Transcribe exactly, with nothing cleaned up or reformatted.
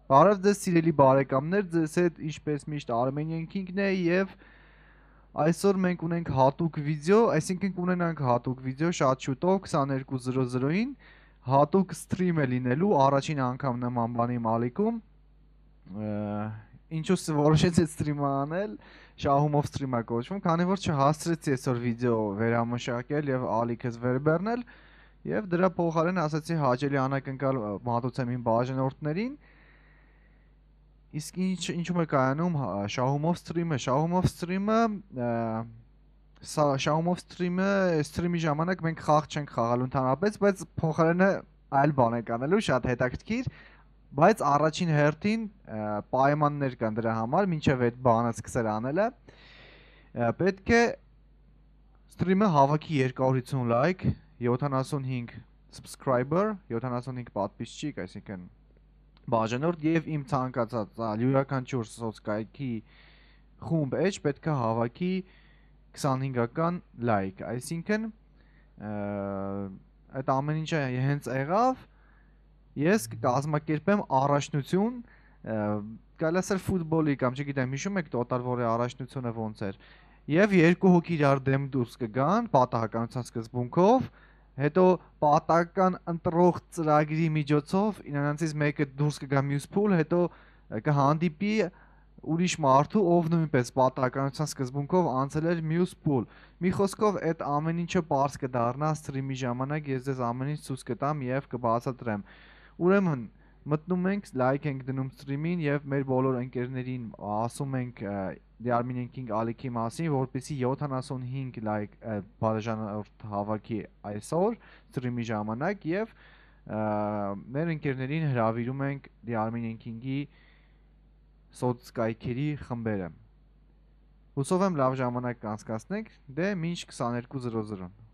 Բարև ձեզ սիրելի բարեկամներ, ձեզ հետ ինչպես միշտ Armenian King-ն է եւ այսօր մենք ունենք հատուկ վիդեո, այսինքն կունենանք հատուկ վիդեո շատ շուտով twenty-two zero-ին հատուկ սթրիմ է լինելու առաջին անգամ նման բանի մալիքում։ Ինչու որոշեցի սթրիմը անել, շահումով սթրիմա կոչվում, քանի որ չհասցրեցի այսօր վիդեո վերամշակել եւ ալիքս վերբեռնել եւ դրա փոխարեն ասացի հաճելի անակնկալ մատուցեմ իմ բաժանորդներին։ Իսկ ինչ ինչու՞մ է կայանում շահումով սթրիմը, շահումով սթրիմը շահումով սթրիմը սթրիմի ժամանակ մենք խաղ չենք խաղալու ընդհանրապես, բայց փոխարենը այլ բան ենք անելու, շատ հետաքրքիր, բայց առաջին հերթին պայմաններ կան դրա համար, մինչև այդ բանը սկսել անելը պետք է սթրիմը հավաքի two hundred fifty լայք, seventy-five subscriber, seventy-five պատվիսչիկ, այսինքն բաժանորդ եւ իմ ցանկացած յուրաքանչյուր սոցկայքի խումբ էջ պետք է հավաքի twenty-five-ական լայք, այսինքն այդ ամեն ինչը հենց եղավ, ես կկազմակերպեմ առաջնություն, կարելի ասել ֆուտբոլի կամ չգիտեմ, հիշում եք Total War-ի առաջնությունը ոնց էր, եւ երկու հոգի իրար դեմ դուրս կգան պատահականության սկզբունքով, հետո պատահական ընտրող ծրագրի միջոցով իրենցից մեկը դուրս կգա մյուս փուլ, հետո կհանդիպի ուրիշ մարդու, ով նույնպես պատահականության սկզբունքով անցել էր մյուս փուլ։ Մի խոսքով այդ ամեն ինչը պարզ կդառնա սթրիմի ժամանակ, ես ձեզ ամեն ինչ ցույց կտամ եւ կբացատրեմ։ Ուրեմն մտնում ենք, լայք ենք դնում սթրիմին եւ մեր բոլոր ընկերներին ասում ենք The Armenian King ալիքի մասին, որպեսզի seventy-five լայք բաժանորդ հավաքի այսօր սթրիմի ժամանակ եւ մեր ընկերներին հրավիրում ենք The Armenian King-ի սոցկայքերի խմբերը։ Հուսով եմ լավ ժամանակ կանցկացնենք, դե մինչ twenty-two zero-ին։